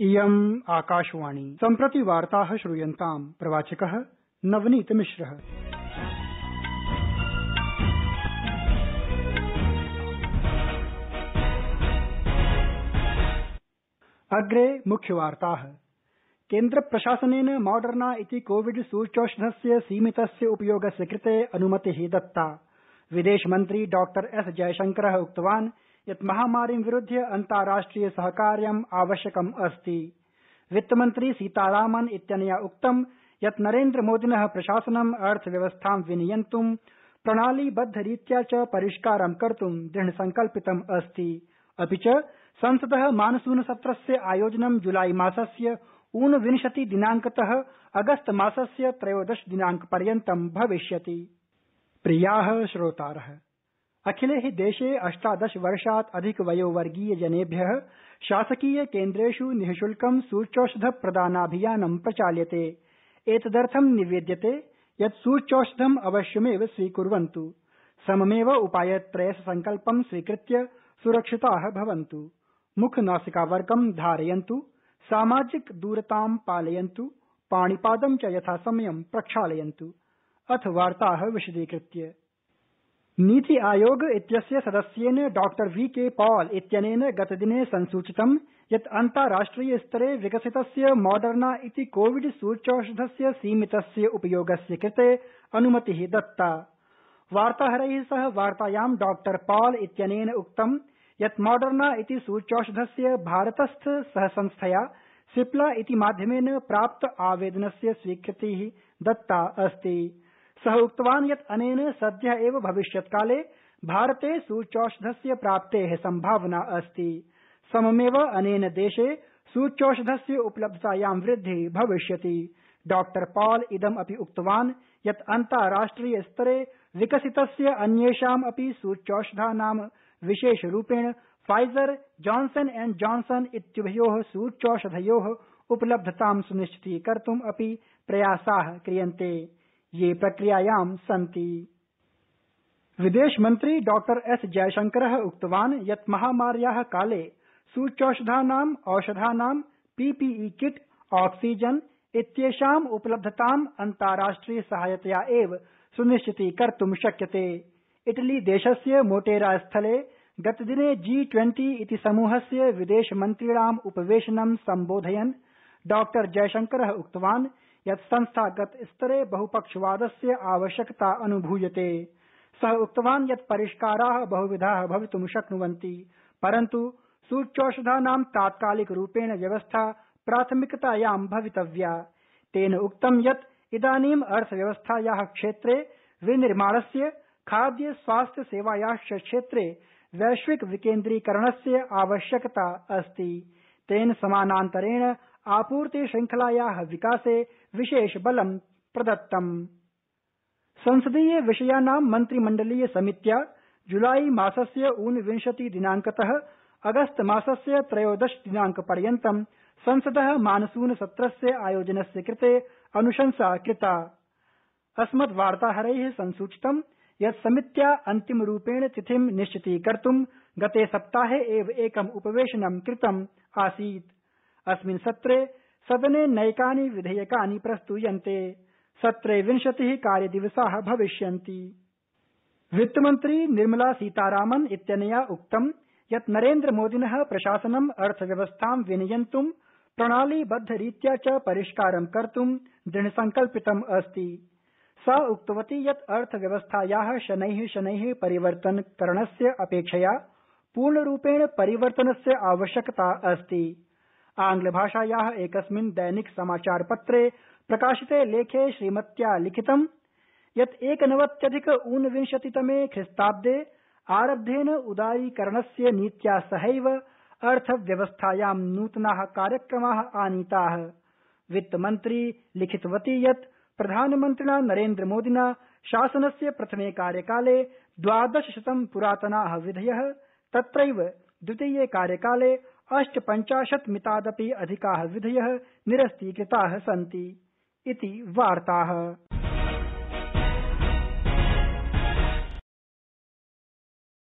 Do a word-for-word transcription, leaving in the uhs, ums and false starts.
इयम् आकाशवाणी सम्प्रति वार्ताः श्रूयन्ताम् प्रवाचकः नवनीत मिश्रः। अग्रे मुख्यवार्ताः। केन्द्रप्रशासनेन मॉडर्ना इति कोविड सूच्यौषधस्य सीमितस्य उपयोगस्य कृते अनुमतिः दत्ता। विदेशमन्त्री डॉक्टर एस जयशंकरः उक्तवान् यत् महामारीं विरुध्य अन्ताराष्ट्रिय सहकार्यम् आवश्यकम् अस्ति। वित्तमन्त्री सीतारामन् इत्यनया उक्तं यत् नरेन्द्रमोदिनः प्रशासनं अर्थव्यवस्थां विनियन्तुं प्रणालीबद्धरीत्या च परिष्कारं कर्तुं दृढसंकल्पितम् अस्ति। अपि च संसदः मानसूनसत्रस्य आयोजनं जुलाई मासस्य ऊनविंशति दिनांकतः अगस्त मासस्य त्रयोदश दिनांकपर्यन्तं भविष्यति। प्रियाः श्रोतारः, अखिले हि देशे अष्टादश वर्षात् अधिक वयोवर्गीय जनेभ्यः शासकीय केन्द्रेषु निःशुल्कं सूच्यौषधप्रदानाभियानं प्रचाल्यते। एतदर्थं निवेद्यते यत् सूच्यौषधम् अवश्यमेव स्वीकुर्वन्तु। सममेव उपायत्रयसंकल्पं स्वीकृत्य सुरक्षिताः भवन्तु। मुखनासिकावरकं धारयन्तु, सामाजिक दूरतां पालयन्तु, पाणिपादं च यथासमयं प्रक्षालयन्तु। अथ वार्ताः विशदीकृत्य। नीति आयोग इत्यस्य सदस्येन डॉक्टर वी के पॉल इत्यनेन गतदिने संसूचितं यत् अन्ताराष्ट्रिय स्तरे विकसितस्य मॉडर्ना इति कोविड सूच्यौषधस्य सीमितस्य उपयोगस्य कृते अनुमतिः दत्ता। वार्ताहरैः सह वार्तायां डॉक्टर पॉल इत्यनेन उक्तं यत् मॉडर्ना इति सूच्यौषधस्य भारतस्थ सहसंस्थया सिप्ला इति माध्यमेन प्राप्त आवेदनस्य स्वीकृतिः दत्ता अस्ति। सः उक्तवान् यत् अनेन सद्यः एव भविष्यत्काले भारते सूच्यौषधस्य प्राप्तेः सम्भावना अस्ति। सममेव अनेन देशे सूच्यौषधस्य उपलब्धतायां वृद्धिः भविष्यति। डॉक्टर पॉल इदम् अपि उक्तवान् यत् अन्ताराष्ट्रिय स्तरे विकसितस्य अन्येषाम् अपि सूच्यौषधानां विशेषरूपेण फाइजर जॉनसन एण्ड जॉनसन इत्युभयोः सूच्यौषधयोः उपलब्धतां सुनिश्चितीकर्तुम् अपि प्रयासाः क्रियन्ते, ये प्रक्रियायां सन्ति। विदेशमन्त्री डॉक्टर एस जयशंकरः उक्तवान् यत् महामार्याः काले सूच्यौषधानाम् औषधानां पीपीई किट ऑक्सीजन इत्येषाम् उपलब्धताम् अन्ताराष्ट्रिय सहायतया एव सुनिश्चितीकर्तुं शक्यते। इटली देशस्य मोटेरा स्थले गतदिने जी ट्वेंटी इति समूहस्य विदेशमन्त्रीणाम् उपवेशनं सम्बोधयन् डॉक्टर जयशंकरः उक्तवान् यत् संस्थागत स्तरे बहुपक्षवादस्य आवश्यकता अनुभूयते। सः उक्तवान् यत् परिष्काराः बहुविधाः भवितुं शक्नुवन्ति, परन्तु सूच्यौषधानां तात्कालिक रूपेण व्यवस्था प्राथमिकतायां भवितव्या। तेन उक्तं यत् इदानीम् अर्थव्यवस्थायाः क्षेत्रे विनिर्माणस्य, खाद्य स्वास्थ्य सेवायाश्च क्षेत्रे वैश्विक विकेन्द्रीकरणस्य आवश्यकता अस्ति। तेन समानान्तरेण आपूर्ति श्रृंखलायाः विकासे विशेष बलं प्रदत्तम्। संसदीय विषयाणां मन्त्रिमण्डलीय समित्या जुलाई मासस्य ऊनविंशति दिनांकतः अगस्त मासस्य त्रयोदश दिनांकपर्यन्तं संसदः मानसून सत्रस्य आयोजनस्य कृते अनुशंसा कृता। अस्मद्वार्ताहरैः संसूचितं यत् समित्या अन्तिमरूपेण तिथिं निश्चितीकर्तुं गते सप्ताहे एव एकम् उपवेशनं कृतम् आसीत्। अस्मिन् सत्रे सदने नैकानि विधेयकानि प्रस्तूयन्ते। सत्रे विंशतिः कार्यदिवसाः भविष्यन्ति। वित्तमन्त्री निर्मला सीतारामन् इत्यनया उक्तं यत् नरेन्द्रमोदिनः प्रशासनं अर्थव्यवस्थां विनियन्तुं प्रणालीबद्धरीत्या च परिष्कारं कर्तुं दृढसंकल्पितम् अस्ति। सा उक्तवती यत् अर्थव्यवस्थायाः शनैः शनैः परिवर्तनकरणस्य अपेक्षया पूर्णरूपेण परिवर्तनस्य आवश्यकता अस्ति। आंग्लभाषायाः एकस्मिन् दैनिक समाचारपत्रे प्रकाशिते लेखे श्रीमत्या लिखितं यत् एकनवत्यधिक ऊनविंशतितमे ख्रीस्ताब्दे आरब्धेन उदारीकरणस्य नीत्या सहैव अर्थव्यवस्थायां नूतनाः कार्यक्रमाः आनीताः। वित्तमन्त्री लिखितवती यत् प्रधानमन्त्रिणा नरेन्द्रमोदिना शासनस्य प्रथमे कार्यकाले द्वादशशतं पुरातनाः विधयः, तत्रैव द्वितीये कार्यकाले अष्टपञ्चाशत् मितादपि अधिकाः विधयः निरस्तीकृताः सन्ति इति वार्ताः।